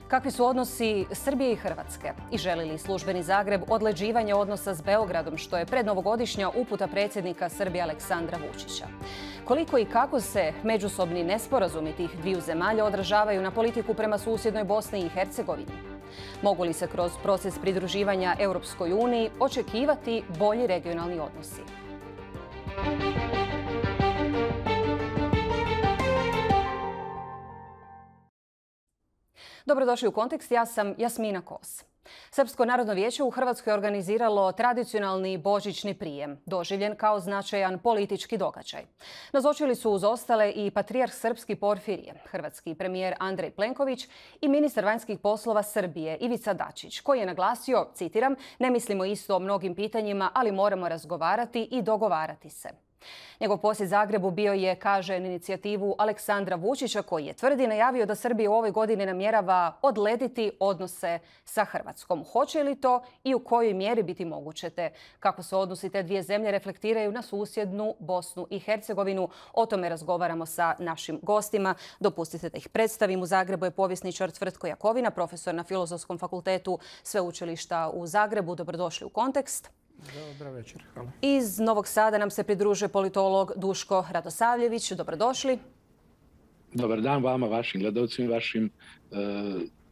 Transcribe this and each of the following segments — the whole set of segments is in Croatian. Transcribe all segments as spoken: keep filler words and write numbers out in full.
Kakvi su odnosi Srbije i Hrvatske? I želi li službeni Zagreb odleđivanje odnosa s Beogradom, što je prednovogodišnja uputa predsjednika Srbije Aleksandra Vučića? Koliko i kako se međusobni nesporazumi tih dviju zemalja odražavaju na politiku prema susjednoj Bosni i Hercegovini? Mogu li se kroz proces pridruživanja Europskoj uniji očekivati bolji regionalni odnosi? Dobrodošli u Kontekst, ja sam Jasmina Kos. Srpsko narodno vijeće u Hrvatskoj je organiziralo tradicionalni božićni prijem, doživljen kao značajan politički događaj. Nazočili su uz ostale i patrijarh srpski Porfirije, hrvatski premijer Andrej Plenković i ministar vanjskih poslova Srbije Ivica Dačić, koji je naglasio, citiram, ne mislimo isto o mnogim pitanjima, ali moramo razgovarati i dogovarati se. Njegov posjet Zagrebu bio je, kaže, na inicijativu Aleksandra Vučića, koji je tvrdi najavio da Srbija u ovoj godini namjerava odlediti odnose sa Hrvatskom. Hoće li to i u kojoj mjeri biti moguće, te kako se odnosi te dvije zemlje reflektiraju na susjednu Bosnu i Hercegovinu? O tome razgovaramo sa našim gostima. Dopustite da ih predstavim. U Zagrebu je povjesničar Tvrtko Jakovina, profesor na Filozofskom fakultetu Sveučilišta u Zagrebu. Dobrodošli u Kontekst. Dobar večer, hvala. Iz Novog Sada nam se pridružuje politolog Duško Radosavljević. Dobrodošli. Dobar dan vama, vašim gledalcima i vašim e,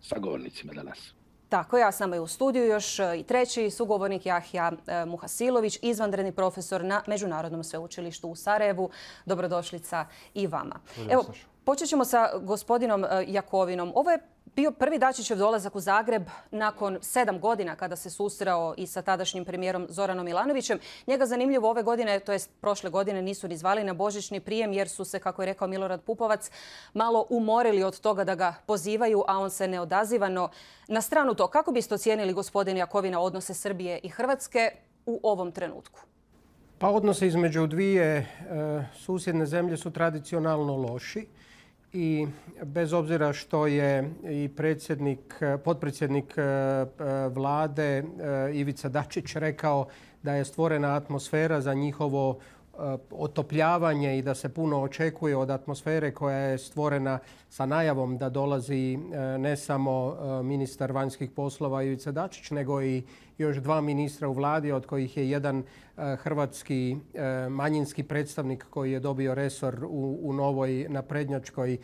sagovornicima danas. Tako, ja sam i u studiju još i treći sugovornik Jahja Muhasilović, izvanredni profesor na Međunarodnom sveučilištu u Sarajevu. Dobrodošlica i vama. Evo, počet ćemo sa gospodinom Jakovinom. Ovo je bio prvi Dačićev dolazak u Zagreb nakon sedam godina kada se susreo i sa tadašnjim premijerom Zoranom Milanovićem. Njega zanimljivo ove godine, to jest prošle godine, nisu ni zvali na božićni prijem jer su se, kako je rekao Milorad Pupovac, malo umorili od toga da ga pozivaju, a on se ne odaziva. No, na stranu to, kako biste ocijenili, gospodin Jakovina, odnose Srbije i Hrvatske u ovom trenutku? Pa odnose između dvije e, susjedne zemlje su tradicionalno loši. I bez obzira što je i predsjednik, potpredsjednik vlade Ivica Dačić rekao da je stvorena atmosfera za njihovo otopljavanje i da se puno očekuje od atmosfere koja je stvorena sa najavom da dolazi ne samo ministar vanjskih poslova Ivica Dačić, nego i još dva ministra u vladi, od kojih je jedan hrvatski manjinski predstavnik koji je dobio resor u, u novoj naprednjačkoj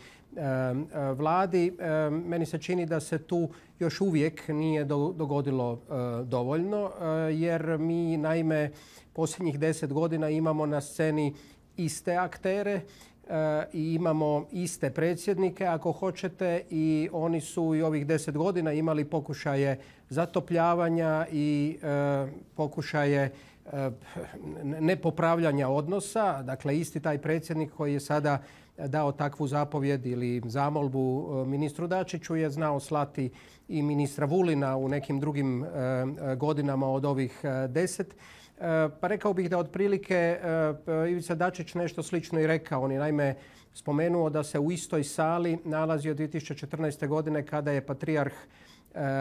vladi. Meni se čini da se tu još uvijek nije dogodilo dovoljno, jer mi naime posljednjih deset godina imamo na sceni iste aktere i imamo iste predsjednike, ako hoćete, i oni su i ovih deset godina imali pokušaje zatopljavanja i pokušaje nepopravljanja odnosa. Dakle, isti taj predsjednik koji je sada dao takvu zapovjed ili zamolbu ministru Dačiću je znao slati i ministra Vulina u nekim drugim godinama od ovih deset. Pa rekao bih da otprilike Ivica Dačić nešto slično i rekao. On je naime spomenuo da se u istoj sali nalazio dvije tisuće četrnaeste. godine kada je patrijarh,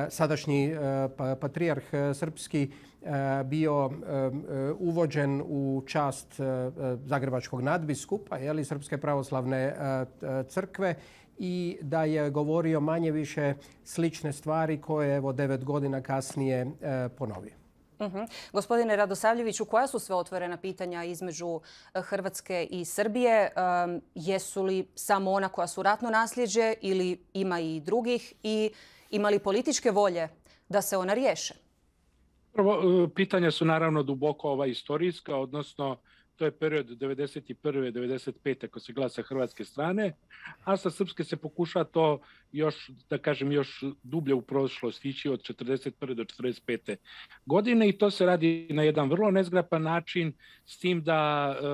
sadašnji patrijarh srpski bio uvođen u čast zagrebačkog nadbiskupa, jeli, Srpske pravoslavne crkve, i da je govorio manje više slične stvari koje evo devet godina kasnije ponovio. Uh-huh. Gospodine Radosavljeviću, koja su sve otvorena pitanja između Hrvatske i Srbije? Um, jesu li samo ona koja su ratno nasljeđe ili ima i drugih? I ima li političke volje da se ona riješe? Prvo, pitanja su naravno duboko ova istorijska, odnosno to je period devedeset prve. do devedeset pete ako se gleda sa hrvatske strane, a sa srpske se pokuša to još, da kažem, još dublje u prošlost ići od četrdeset prve. do četrdeset pete. godine i to se radi na jedan vrlo nezgrapan način, s tim da e,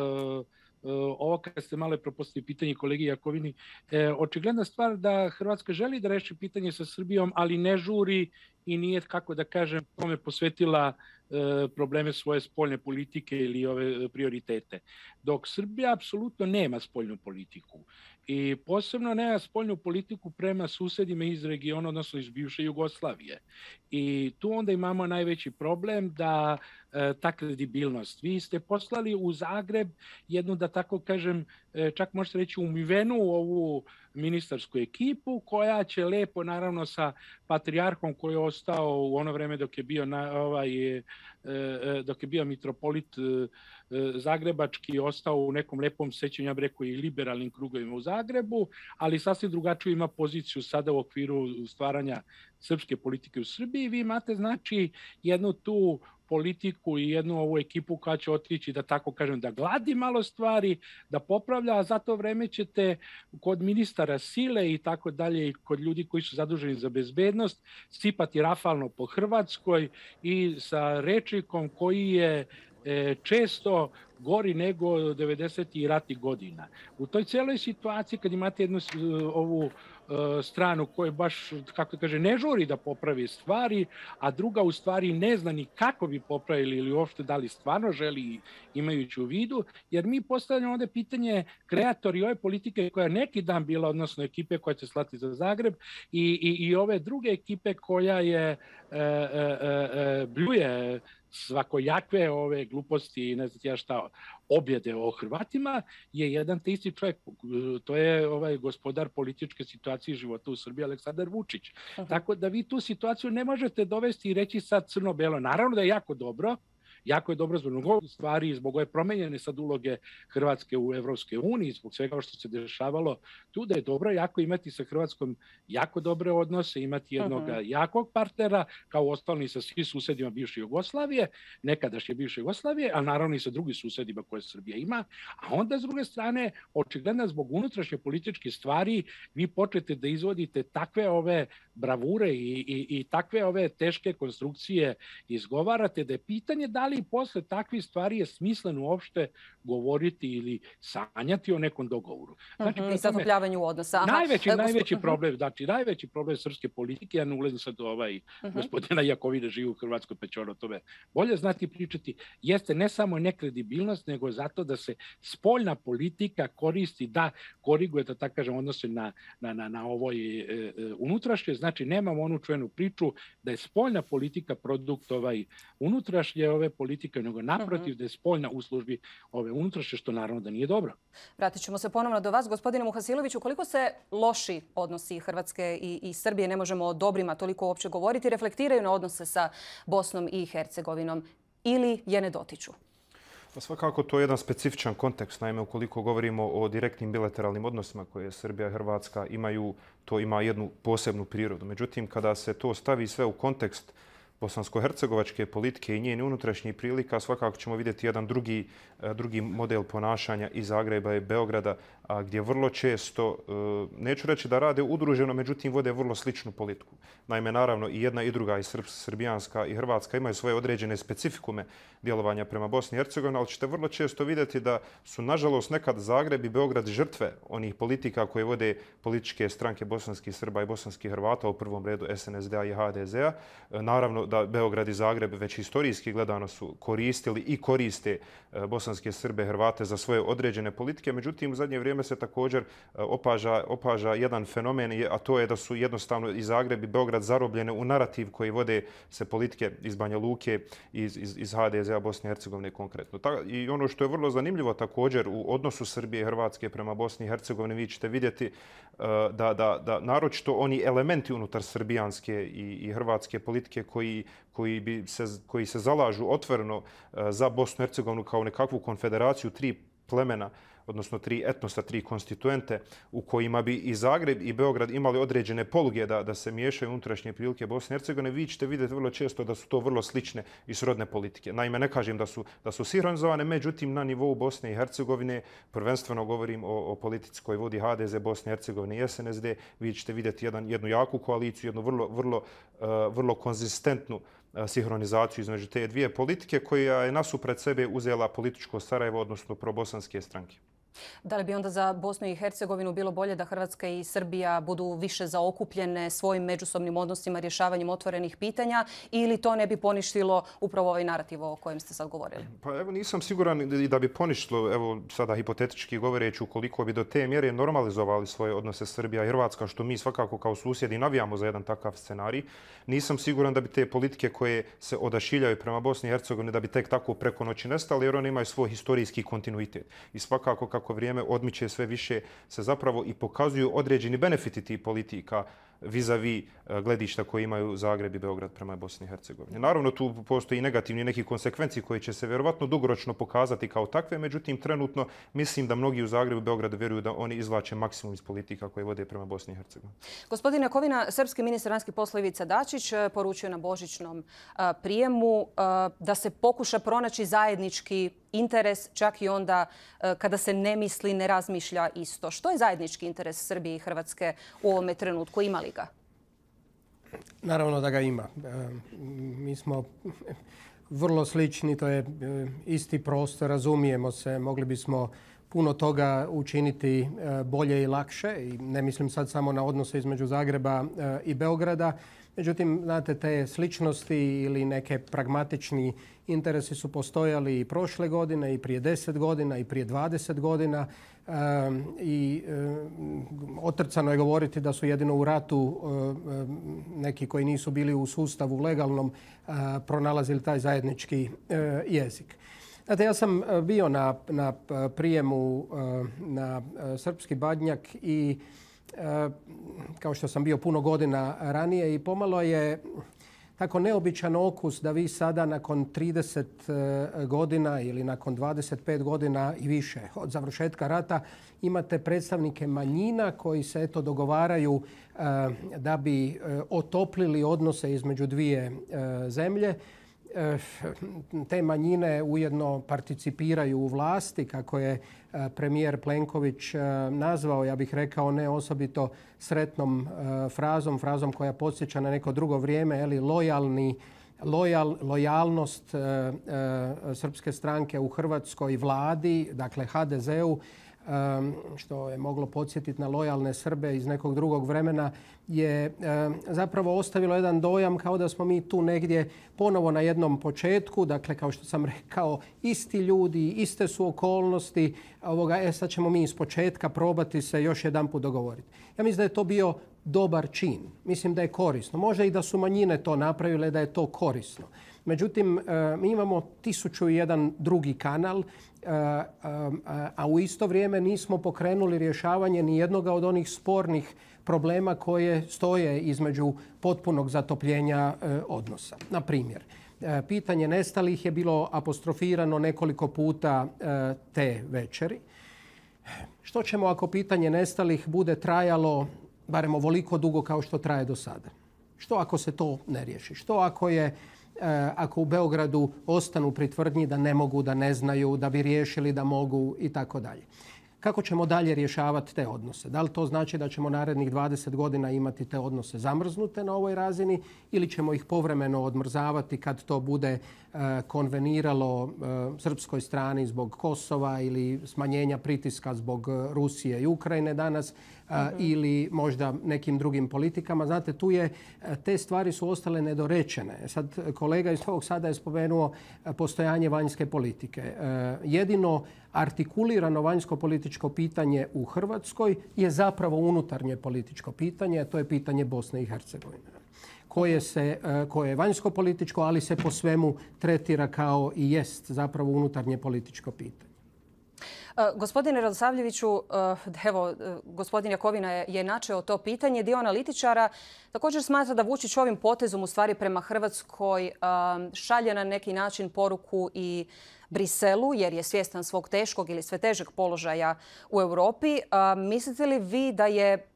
ovo kad ste malo propustili pitanje kolegi Jakovini, e, očigledna stvar da Hrvatska želi da reši pitanje sa Srbijom, ali ne žuri i nije, kako da kažem, tome posvetila e, probleme svoje spoljne politike ili ove prioritete. Dok Srbija apsolutno nema spoljnu politiku i posebno nema spoljnu politiku prema susedima iz regiona, odnosno iz bivše Jugoslavije. I tu onda imamo najveći problem da e, ta kredibilnost. Vi ste poslali u Zagreb jednu, da tako kažem, čak možete reći, umivenu u ovu ministarsku ekipu koja će lepo, naravno, sa patrijarhom koji je ostao u ono vreme dok je bio, na, ovaj, dok je bio mitropolit zagrebački, ostao u nekom lepom sećanju, ja bih rekao, i liberalnim krugovima u Zagrebu, ali sasvim drugačiju ima poziciju sada u okviru stvaranja srpske politike u Srbiji. Vi imate, znači, jednu tu politiku i jednu ovu ekipu koja će otići, da tako kažem, da gladi malo stvari, da popravlja, a za to vreme ćete kod ministara sile i tako dalje i kod ljudi koji su zaduženi za bezbednost sipati rafalno po Hrvatskoj i sa rečnikom koji je često gori nego devedesetih ratnih godina. U toj celoj situaciji, kad imate jednu ovu stranu koja baš, kako kaže, ne žuri da popravi stvari, a druga u stvari ne zna ni kako bi popravili ili uopšte da li stvarno želi, imajući u vidu, jer mi postavljamo ovde pitanje kreatori ove politike koja je neki dan bila, odnosno ekipe koja će slati za Zagreb i, i, i ove druge ekipe koja je e, e, e, bljuje svakojakve ove gluposti i ne znam ja šta objede o Hrvatima, je jedan te isti čovjek, to je ovaj gospodar političke situacije i života u Srbiji, Aleksandar Vučić. Uh-huh. Tako da vi tu situaciju ne možete dovesti i reći sad crno-belo. Naravno da je jako dobro, jako je dobro zbog mnogo stvari, zbog ove promenjene sad uloge Hrvatske u Evropskoj uniji, zbog svega što se dešavalo tu, da je dobro jako imati sa Hrvatskom jako dobre odnose, imati jednog uh-huh. jakog partnera, kao ostalo i sa svim susedima bivše Jugoslavije, nekadašnje bivše Jugoslavije, a naravno i sa drugim susedima koje Srbija ima, a onda s druge strane, očigledno zbog unutrašnje političke stvari, vi počnete da izvodite takve ove bravure i, i, i takve ove teške konstrukcije izgovarate, da je pitanje da li i posle takvih stvari je smisleno uopšte govoriti ili sanjati o nekom dogovoru. Znači, uh-huh, i zatopljavanju odnosa. Aha. Najveći, e, najveći problem, znači, najveći problem srpske politike, ja ne ulazim sad do ovaj uh-huh. gospodina Jakovine živi u Hrvatskoj, pa će on o tome bolje znati pričati, jeste ne samo nekredibilnost, nego zato da se spoljna politika koristi, da koriguje, da tako kažem, odnose na, na, na, na ovoj e, e, unutrašnje. Znači, nemamo onu čuvenu priču da je spoljna politika produkt ovaj unutrašnje ove politike, nego naprotiv uh-huh. da je spoljna u službi ove unutrašnje, što naravno da nije dobro. Vratit ćemo se ponovno do vas, gospodine Muhasiloviću. Koliko se loši odnosi Hrvatske i, i Srbije, ne možemo o dobrima toliko uopće govoriti, reflektiraju na odnose sa Bosnom i Hercegovinom ili je ne dotiču? Pa svakako to je jedan specifičan kontekst. Naime, ukoliko govorimo o direktnim bilateralnim odnosima koje Srbija i Hrvatska imaju, to ima jednu posebnu prirodu. Međutim, kada se to stavi sve u kontekst bosansko-hercegovačke politike i njene unutrašnjih prilika, svakako ćemo vidjeti jedan drugi, drugi model ponašanja i Zagreba i Beograda, gdje vrlo često, neću reći da rade udruženo, međutim vode vrlo sličnu politiku. Naime, naravno, i jedna i druga, i srbijanska i hrvatska, imaju svoje određene specifikume djelovanja prema Bosni i Hercegovini, ali ćete vrlo često vidjeti da su, nažalost, nekad Zagreb i Beograd žrtve onih politika koje vode političke stranke bosanskih Srba i bosanskih Hrvata, u prvom redu es en es de a i ha de ze a. Naravno da Beograd i Zagreb već historijski gledano su koristili i koriste bosanske Srbe, Hrvate za svoje određene politike. Međutim, u zadnje vrijeme se također opaža, opaža jedan fenomen, a to je da su jednostavno i Zagreb i Beograd zarobljene u narativ koji vode se politike iz Banja Luke, iz, iz, iz ha de ze a Bosne i Hercegovine konkretno. I ono što je vrlo zanimljivo također u odnosu Srbije i Hrvatske prema Bosni i Hercegovini, vi ćete vidjeti da, da, da naročito oni elementi unutar srbijanske i, i hrvatske politike koji koji, bi se, koji se zalažu otvoreno za Bosnu i Hercegovinu kao nekakvu konfederaciju tri plemena, odnosno tri etnosa, tri konstituente, u kojima bi i Zagreb i Beograd imali određene poluge da, da se miješaju unutrašnje prilike Bosne i Hercegovine, vi ćete vidjeti vrlo često da su to vrlo slične i srodne politike. Naime, ne kažem da su, da su sinhronizovane, međutim, na nivou Bosne i Hercegovine, prvenstveno govorim o, o politici koju vodi ha de ze, Bosne i Hercegovine i es en es de, vi ćete vidjeti jedan, jednu jaku koaliciju, jednu vrlo, vrlo, uh, vrlo konzistentnu sinhronizaciju između te dvije politike koja je nasupred sebe uzela političko Sarajevo, odnosno probosanske stranke. Da li bi onda za Bosnu i Hercegovinu bilo bolje da Hrvatska i Srbija budu više zaokupljene svojim međusobnim odnosima, rješavanjem otvorenih pitanja, ili to ne bi poništilo upravo ovaj narativ o kojem ste sad govorili? Pa evo, nisam siguran i da bi poništilo, evo sada hipotetički govoreći, ukoliko bi do te mjere normalizovali svoje odnose Srbija i Hrvatska, što mi svakako kao susjedi navijamo za jedan takav scenarij. Nisam siguran da bi te politike koje se odašiljaju prema Bosni i Hercegovini da bi tek tako preko noći nestale, jer one imaju svoj historijski kontinuitet. I svakako kako kako vrijeme odmiče sve više se zapravo i pokazuju određeni benefiti tih politika vis-a-vis gledišta koje imaju Zagreb i Beograd prema Bosni i Hercegovini. Naravno, tu postoji negativni neki konsekvenci koji će se vjerovatno dugoročno pokazati kao takve, međutim, trenutno mislim da mnogi u Zagrebu i Beogradu vjeruju da oni izvlače maksimum iz politika koje vode prema Bosni i Hercegovini. Gospodine Kovina, srpski ministar vanjskih poslova Ivica Dačić poručio na božićnom prijemu da se pokuša pronaći zajednički interes čak i onda kada se ne misli, ne razmišlja isto. Što je zajednički interes Srbije i Hrvatske u ovome trenutku? Ima li ga? Naravno da ga ima. Mi smo vrlo slični, to je isti prostor, razumijemo se, mogli bismo puno toga učiniti bolje i lakše. I ne mislim sad samo na odnose između Zagreba i Beograda. Međutim, znate, te sličnosti ili neke pragmatični interesi su postojali i prošle godine, i prije deset godina, i prije dvadeset godina. I otrcano je govoriti da su jedino u ratu neki koji nisu bili u sustavu legalnom pronalazili taj zajednički jezik. Znate, ja sam bio na, na prijemu na Srpski Badnjak i kao što sam bio puno godina ranije i pomalo je tako neobičan okus da vi sada nakon trideset godina ili nakon dvadeset pet godina i više od završetka rata imate predstavnike manjina koji se eto dogovaraju da bi otoplili odnose između dvije zemlje. Te manjine ujedno participiraju u vlasti, kako je premijer Plenković nazvao, ja bih rekao, ne osobito sretnom frazom, frazom koja podsjeća na neko drugo vrijeme, ali lojalni, lojal, lojalnost srpske stranke u hrvatskoj vladi, dakle ha de zeu, što je moglo podsjetiti na lojalne Srbe iz nekog drugog vremena, je zapravo ostavilo jedan dojam kao da smo mi tu negdje ponovo na jednom početku. Dakle, kao što sam rekao, isti ljudi, iste su okolnosti. Ovoga, e, sad ćemo mi iz početka probati se još jedan put dogovoriti. Ja mislim da je to bio dobar čin. Mislim da je korisno. Možda i da su manjine to napravile, da je to korisno. Međutim, mi imamo tisuću i jedan drugi kanal, a u isto vrijeme nismo pokrenuli rješavanje ni jednoga od onih spornih problema koje stoje između potpunog zatopljenja odnosa. Na primjer, pitanje nestalih je bilo apostrofirano nekoliko puta te večeri. Što ćemo ako pitanje nestalih bude trajalo barem ovoliko dugo kao što traje do sada? Što ako se to ne riješi? Što ako je ako u Beogradu ostanu pri tvrdnji da ne mogu, da ne znaju, da bi riješili da mogu i tako dalje? Kako ćemo dalje rješavati te odnose? Da li to znači da ćemo narednih dvadeset godina imati te odnose zamrznute na ovoj razini ili ćemo ih povremeno odmrzavati kad to bude konveniralo srpskoj strani zbog Kosova ili smanjenja pritiska zbog Rusije i Ukrajine danas mm-hmm. ili možda nekim drugim politikama? Znate, tu je, te stvari su ostale nedorečene. Sad kolega iz ovog sada je spomenuo postojanje vanjske politike. Jedino artikulirano vanjsko političko pitanje u Hrvatskoj je zapravo unutarnje političko pitanje, a to je pitanje Bosne i Hercegovine. Koje, se, koje je vanjsko političko, ali se po svemu tretira kao i jest zapravo unutarnje političko pitanje. Gospodine Radosavljeviću, evo, gospodin Jakovina je načeo to pitanje. Dio analitičara također smatra da Vučić ovim potezom u stvari prema Hrvatskoj šalje na neki način poruku i Briselu, jer je svjestan svog teškog ili sve težeg položaja u Europi. Mislite li vi da je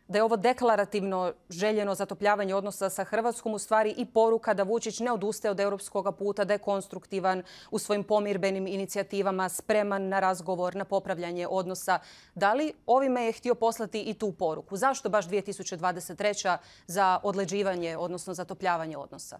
da je ovo deklarativno željeno zatopljavanje odnosa sa Hrvatskom u stvari i poruka da Vučić ne odustaje od europskog puta, da je konstruktivan u svojim pomirbenim inicijativama, spreman na razgovor, na popravljanje odnosa? Da li ovime je htio poslati i tu poruku? Zašto baš dvije tisuće dvadeset treća za odleđivanje, odnosno zatopljavanje odnosa?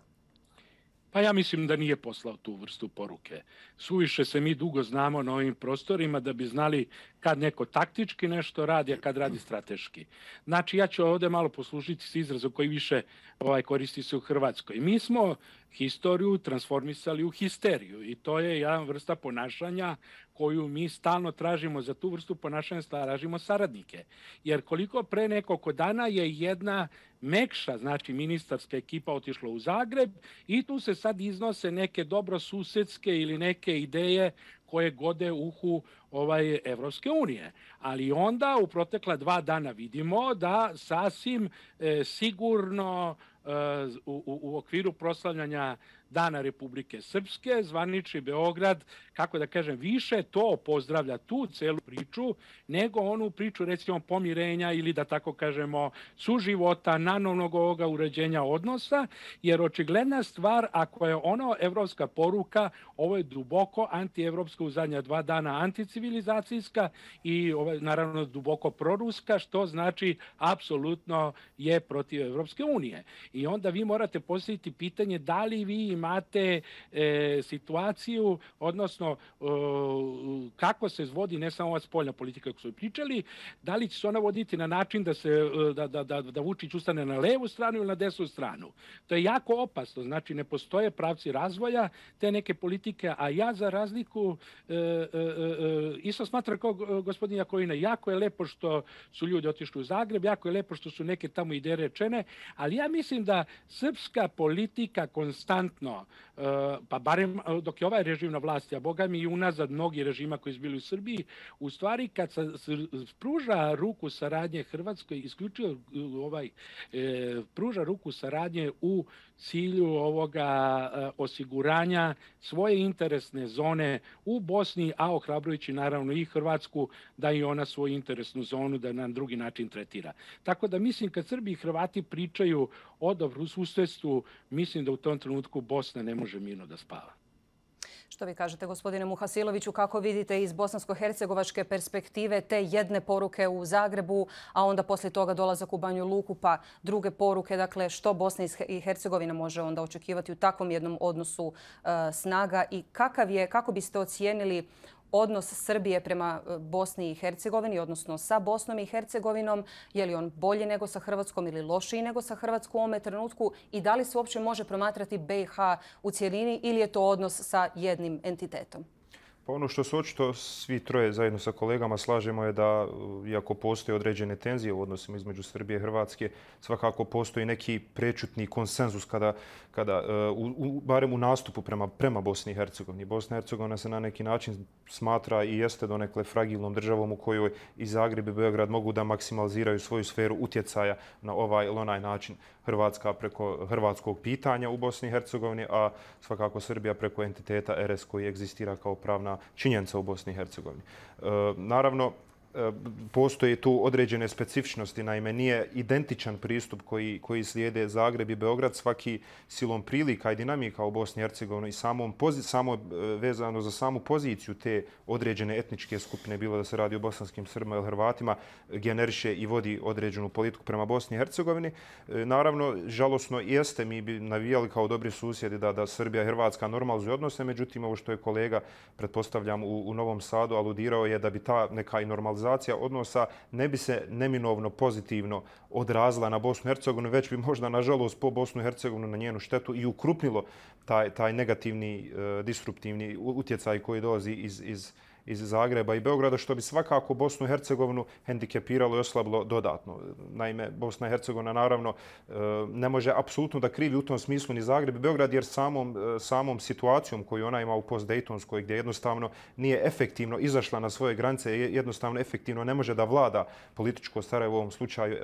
Pa ja mislim da nije poslao tu vrstu poruke. Suviše se mi dugo znamo na ovim prostorima da bi znali kad neko taktički nešto radi, a kad radi strateški. Znači, ja ću ovdje malo poslužiti s izrazom koji više ovaj, koristi se u Hrvatskoj. Mi smo historiju transformisali u histeriju i to je jedna vrsta ponašanja koju mi stalno tražimo. Za tu vrstu ponašanja tražimo saradnike. Jer koliko pre nekoliko dana je jedna mekša, znači ministarska ekipa otišla u Zagreb i tu se sad iznose neke dobrosusedske ili neke ideje koje gode uhu ovaj Evropske unije. Ali onda u protekla dva dana vidimo da sasvim e, sigurno e, u, u, u okviru proslavljanja Dana Republike Srpske, zvanični Beograd, kako da kažem, više to pozdravlja tu celu priču, nego onu priču, recimo, pomirenja ili, da tako kažemo, suživota, nanovnog ovoga uređenja odnosa, jer očigledna stvar, ako je ono evropska poruka, ovo je duboko antievropska u zadnja dva dana anticivilizacijska i ovo je, naravno, duboko proruska, što znači apsolutno je protiv Evropske unije. I onda vi morate postaviti pitanje da li vi imate e, situaciju, odnosno e, kako se vodi ne samo ova spoljna politika koju smo pričali, da li će se ona voditi na način da, se, da, da, da, da Vučić ustane na levu stranu ili na desnu stranu. To je jako opasno, znači ne postoje pravci razvoja te neke politike, a ja za razliku e, e, e, isto smatram kao gospodin Jakovina, jako je lepo što su ljudi otišli u Zagreb, jako je lepo što su neke tamo ideje rečene, ali ja mislim da srpska politika konstantno, pa barem dok je ovaj režim na vlasti, a boga mi i unazad mnogi režima koji su bili u Srbiji, u stvari kad se pruža ruku saradnje Hrvatskoj, isključivo ovaj, pruža ruku saradnje u cilju ovoga osiguranja svoje interesne zone u Bosni, a ohrabrujući naravno i Hrvatsku da i ona svoju interesnu zonu da na drugi način tretira. Tako da mislim kad Srbi i Hrvati pričaju o dobrosusjedstvu, mislim da u tom trenutku Bosna ne može mirno da spava. Što vi kažete, gospodine Muhasiloviću, kako vidite iz bosansko-hercegovačke perspektive te jedne poruke u Zagrebu, a onda poslije toga dolazak u Banju Luku, pa druge poruke, dakle što Bosna i Hercegovina može onda očekivati u takvom jednom odnosu uh, snaga i kakav je, kako biste ocijenili odnos Srbije prema Bosni i Hercegovini, odnosno sa Bosnom i Hercegovinom, je li on bolji nego sa Hrvatskom ili lošiji nego sa Hrvatskom u ovome trenutku i da li se uopće može promatrati B i H u cjelini ili je to odnos sa jednim entitetom? Pa ono što se očito svi troje zajedno sa kolegama slažemo je da, iako postoje određene tenzije u odnosima između Srbije i Hrvatske, svakako postoji neki prečutni konsenzus kada, kada u, u, barem u nastupu prema, prema Bosni i Hercegovini. Bosna i Hercegovina se na neki način smatra i jeste donekle fragilnom državom u kojoj i Zagreb i Beograd mogu da maksimaliziraju svoju sferu utjecaja na ovaj ili onaj način. Hrvatska preko hrvatskog pitanja u Bosni i Hercegovini, a svakako Srbija preko entiteta R S koji egzistira kao pravna činjenica u Bosni i Hercegovini. E, naravno, postoje tu određene specifičnosti. Naime, nije identičan pristup koji, koji slijede Zagreb i Beograd. Svaki silom prilika i dinamika u Bosni i Hercegovini i samom pozi, samo vezano za samu poziciju te određene etničke skupine, bilo da se radi o bosanskim Srbima ili Hrvatima, generiše i vodi određenu politiku prema Bosni i Hercegovini. Naravno, žalosno jeste, mi bi navijali kao dobri susjedi da, da Srbija i Hrvatska normalizuju odnose, međutim, ovo što je kolega, pretpostavljam, u, u Novom Sadu aludirao je da bi ta neka i normalizacija odnosa ne bi se neminovno pozitivno odrazila na Bosnu i Hercegovinu, već bi možda, nažalost, po Bosnu i Hercegovinu na njenu štetu i ukrupnilo taj, taj negativni, uh, disruptivni utjecaj koji dolazi iz, iz iz Zagreba i Beograda, što bi svakako Bosnu i Hercegovinu hendikepiralo i oslabilo dodatno. Naime, Bosna i Hercegovina naravno ne može apsolutno da krivi u tom smislu ni Zagreb i Beograd, jer samom, samom situacijom koju ona ima u post-Daytonskoj, gdje jednostavno nije efektivno izašla na svoje granice, jednostavno efektivno ne može da vlada političko Sarajevo u ovom slučaju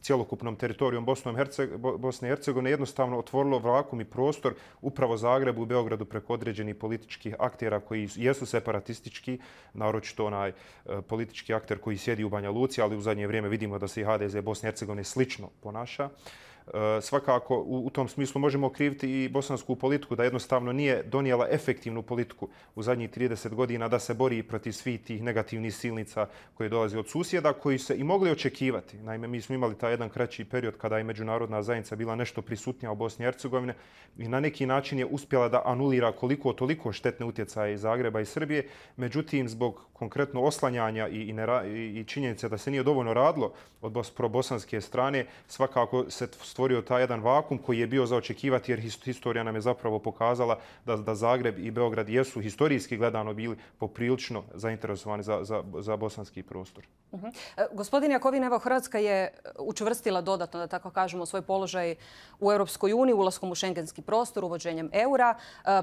cjelokupnom teritorijom Bosne i Hercegovine, jednostavno otvorilo vakuum i prostor upravo Zagrebu i Beogradu preko određenih političkih aktera koji jesu separatistički, naročito onaj politički akter koji sjedi u Banja Luci, ali u zadnje vrijeme vidimo da se i H D Z Bosne i Hercegovine slično ponaša. Svakako u tom smislu možemo okriviti i bosansku politiku da jednostavno nije donijela efektivnu politiku u zadnjih trideset godina da se bori protiv svih tih negativnih silnica koje dolaze od susjeda, koji se i mogli očekivati. Naime, mi smo imali taj jedan kraći period kada je međunarodna zajednica bila nešto prisutnija u Bosni i Hercegovini i na neki način je uspjela da anulira koliko toliko štetne utjecaje iz Zagreba i Srbije. Međutim, zbog konkretno oslanjanja i, i, nera, i činjenice da se nije dovoljno radilo od probosanske strane, svakako se stvorio taj jedan vakum koji je bio za očekivati, jer historija nam je zapravo pokazala da, da Zagreb i Beograd jesu historijski gledano bili poprilično zainteresovani za, za, za bosanski prostor. Uh-huh. Gospodin Jakovina, evo Hrvatska je učvrstila dodatno, da tako kažemo, svoj položaj u Europskoj uniji, ulaskom u šengenski prostor, uvođenjem eura.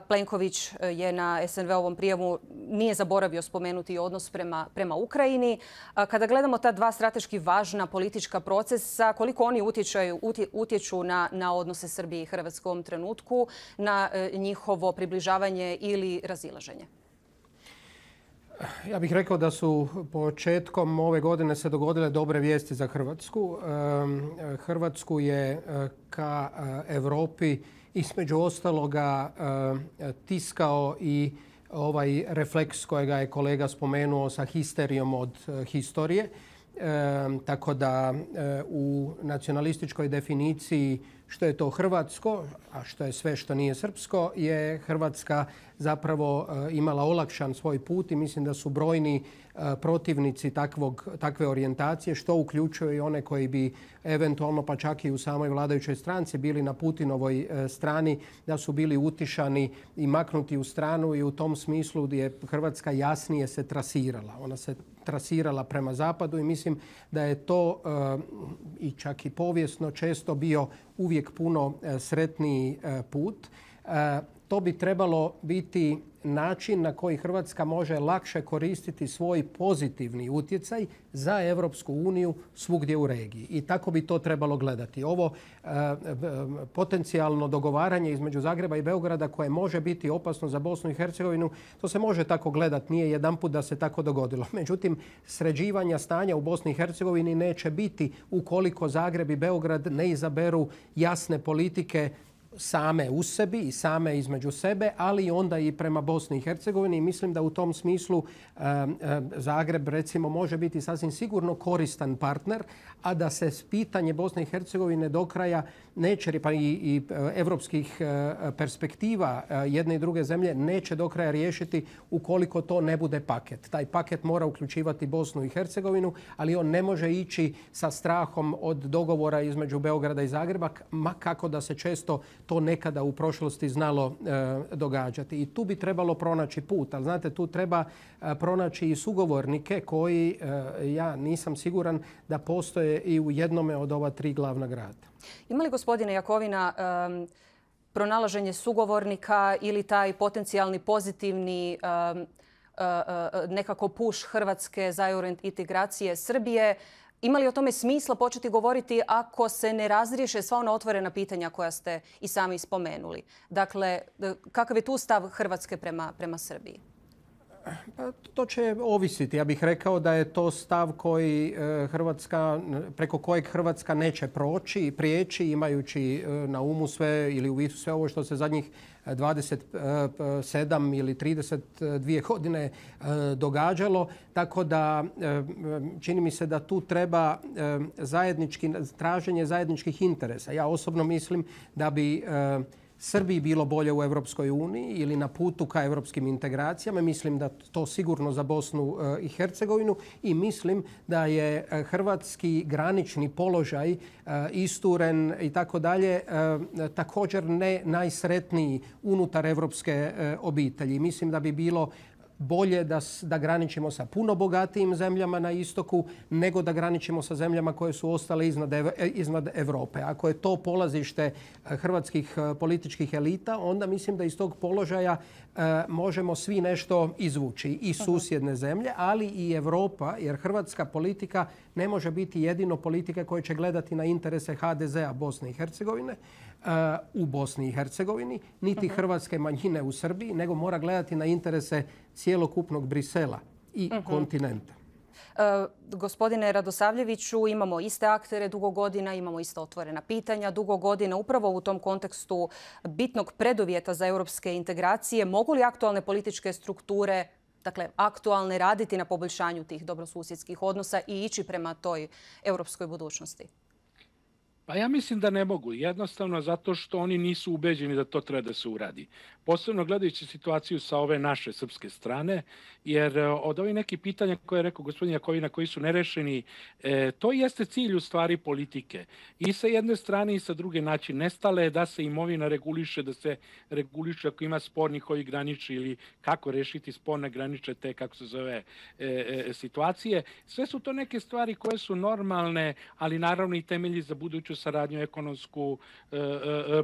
Plenković je na S N V-ovom prijemu nije zaboravio spomenuti odnos prema, prema Ukrajini. Kada gledamo ta dva strateški važna politička procesa, koliko oni utječaju, utje, utječu na, na odnose Srbije i Hrvatske u ovom trenutku, na njihovo približavanje ili razilaženje? Ja bih rekao da su početkom ove godine se dogodile dobre vijesti za Hrvatsku. Hrvatsku je ka Europi između ostaloga tiskao i ovaj refleks kojega je kolega spomenuo sa histerijom od historije. Tako da u nacionalističkoj definiciji što je to hrvatsko, a što je sve što nije srpsko, je Hrvatska zapravo imala olakšan svoj put i mislim da su brojni protivnici takvog, takve orijentacije, što uključuje i one koji bi eventualno pa čak i u samoj vladajućoj stranci bili na Putinovoj strani, da su bili utišani i maknuti u stranu i u tom smislu je Hrvatska jasnije se trasirala. Ona se trasirala prema zapadu i mislim da je to i čak i povijesno često bio uvijek puno sretniji put. To bi trebalo biti način na koji Hrvatska može lakše koristiti svoj pozitivni utjecaj za Europsku uniju svugdje u regiji. I tako bi to trebalo gledati. Ovo e, potencijalno dogovaranje između Zagreba i Beograda koje može biti opasno za Bosnu i Hercegovinu, to se može tako gledati. Nije jedanput da se tako dogodilo. Međutim, sređivanja stanja u Bosni i Hercegovini neće biti ukoliko Zagreb i Beograd ne izaberu jasne politike same u sebi i same između sebe, ali onda i prema Bosni i Hercegovini. I mislim da u tom smislu e, e, Zagreb recimo može biti sasvim sigurno koristan partner, a da se pitanje Bosne i Hercegovine do kraja neće, pa i, i evropskih e, perspektiva e, jedne i druge zemlje neće do kraja riješiti ukoliko to ne bude paket. Taj paket mora uključivati Bosnu i Hercegovinu, ali on ne može ići sa strahom od dogovora između Beograda i Zagreba, ma kako da se često to nekada u prošlosti znalo e, događati. I tu bi trebalo pronaći put. Ali znate, tu treba e, pronaći i sugovornike koji, e, ja nisam siguran da postoje i u jednome od ova tri glavna grada. Ima li, gospodine Jakovina, um, pronalaženje sugovornika ili taj potencijalni pozitivni um, uh, uh, nekako push Hrvatske za eurointegracije Srbije? Ima li o tome smisla početi govoriti ako se ne razriješe sva ona otvorena pitanja koja ste i sami spomenuli? Dakle, kakav je tu stav Hrvatske prema, prema Srbiji? Pa, to će ovisiti. Ja bih rekao da je to stav koji Hrvatska, preko kojeg Hrvatska neće proći i prijeći imajući na umu sve ili u vidu sve ovo što se zadnjih dvadeset sedam ili trideset dvije godine događalo. Tako da čini mi se da tu treba zajednički, traženje zajedničkih interesa. Ja osobno mislim da bi Srbiji bilo bolje u Europskoj uniji ili na putu ka europskim integracijama. Mislim da to sigurno za Bosnu i Hercegovinu i mislim da je hrvatski granični položaj isturen i tako dalje također ne najsretniji unutar evropske obitelji. Mislim da bi bilo bolje da, da graničimo sa puno bogatijim zemljama na istoku nego da graničimo sa zemljama koje su ostale iznad, iznad Europe. Ako je to polazište hrvatskih političkih elita, onda mislim da iz tog položaja e, možemo svi nešto izvući. I susjedne zemlje, ali i Europa, jer hrvatska politika ne može biti jedino politika koja će gledati na interese ha de zea Bosne i Hercegovine u Bosni i Hercegovini, niti hrvatske manjine u Srbiji, nego mora gledati na interese cijelokupnog Brisela i uh-huh. kontinenta. E, gospodine Radosavljeviću, imamo iste aktere dugo godina, imamo ista otvorena pitanja dugo godina. Upravo u tom kontekstu bitnog preduvjeta za europske integracije, mogu li aktualne političke strukture, dakle aktualne, raditi na poboljšanju tih dobrosusjedskih odnosa i ići prema toj europskoj budućnosti? Pa ja mislim da ne mogu. Jednostavno zato što oni nisu ubeđeni da to treba da se uradi. posebno gledajući situaciju sa ove naše srpske strane, jer od ovih nekih pitanja koje je rekao gospodin Jakovina koji su nerešeni, to jeste cilj u stvari politike. I sa jedne strane i sa druge način nestale da se imovina reguliše, da se reguliše ako ima spornih ovih granični ili kako rešiti sporne graniče te, kako se zove, situacije. Sve su to neke stvari koje su normalne, ali naravno i temelji za buduću saradnju ekonomsku,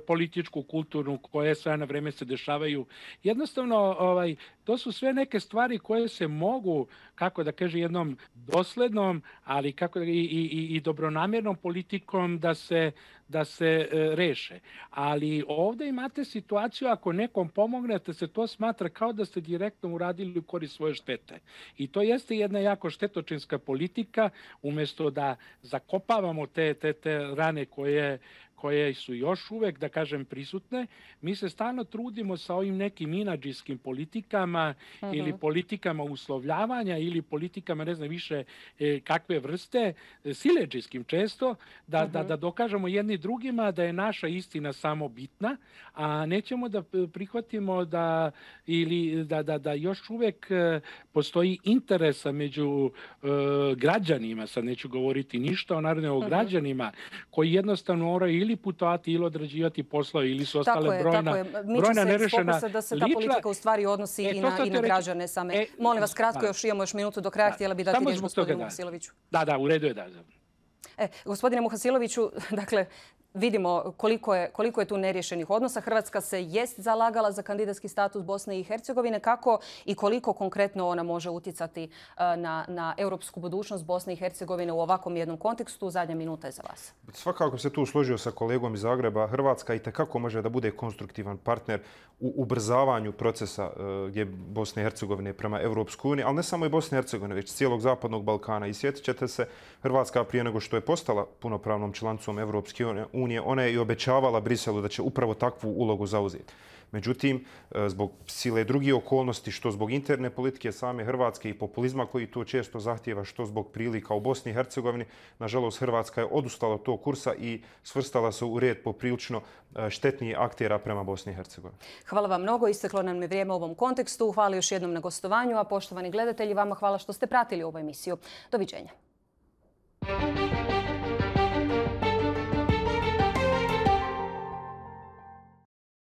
političku, kulturnu, koje sve na vreme se dešavaju. Jednostavno, ovaj, to su sve neke stvari koje se mogu, kako da kaže, jednom doslednom, ali kako da, i, i, i dobronamjernom politikom da se, da se e, reše. Ali ovdje imate situaciju, ako nekom pomognete, se to smatra kao da ste direktno uradili u korist svoje štete. I to jeste jedna jako štetočinska politika, umjesto da zakopavamo te, te, te rane koje koje su još uvek, da kažem, prisutne. Mi se stalno trudimo sa ovim nekim inadžijskim politikama uh-huh. ili politikama uslovljavanja ili politikama, ne znam više e, kakve vrste, siledžijskim često, da, uh-huh. da, da dokažemo jedni drugima da je naša istina samo bitna, a nećemo da prihvatimo da, ili da, da, da još uvek postoji interesa među e, građanima, sad neću govoriti ništa o naravno o uh-huh. građanima, koji jednostavno moraju ili putovati ili odrađivati poslove ili su ostale tako je, brojna, tako je. Mi brojna nerešena lična. Da se ta politika u stvari odnosi e, i, na, i na građane same. E, Molim vas, kratko, da. još imamo još minutu do kraja, da. htjela bi dati riječ gospodinu Muhasiloviću. Da, da, u redu je da. E, gospodine Muhasiloviću, dakle, vidimo koliko je, koliko je tu neriješenih odnosa. Hrvatska se jest zalagala za kandidatski status Bosne i Hercegovine. Kako i koliko konkretno ona može utjecati na, na europsku budućnost Bosne i Hercegovine u ovakvom jednom kontekstu? Zadnja minuta je za vas. Svakako se tu složio sa kolegom iz Zagreba. Hrvatska i tekako može da bude konstruktivan partner u ubrzavanju procesa gdje Bosne i Hercegovine prema Europskoj uniji, ali ne samo i Bosne i Hercegovine, već cijelog Zapadnog Balkana. I sjetit ćete se, Hrvatska prije nego što je postala punopravnom članicom Europske unije, ona je i obećavala Briselu da će upravo takvu ulogu zauzeti. Međutim, zbog sile drugih okolnosti, što zbog interne politike same Hrvatske i populizma koji to često zahtijeva, što zbog prilika u Bosni i Hercegovini, nažalost Hrvatska je odustala od tog kursa i svrstala se u red poprilično štetnijih aktera prema Bosni i Hercegovini. Hvala vam mnogo. Isteklo nam je vrijeme u ovom kontekstu. Hvala još jednom na gostovanju, a poštovani gledatelji, vama hvala što ste pratili ovu emisiju. Doviđenja.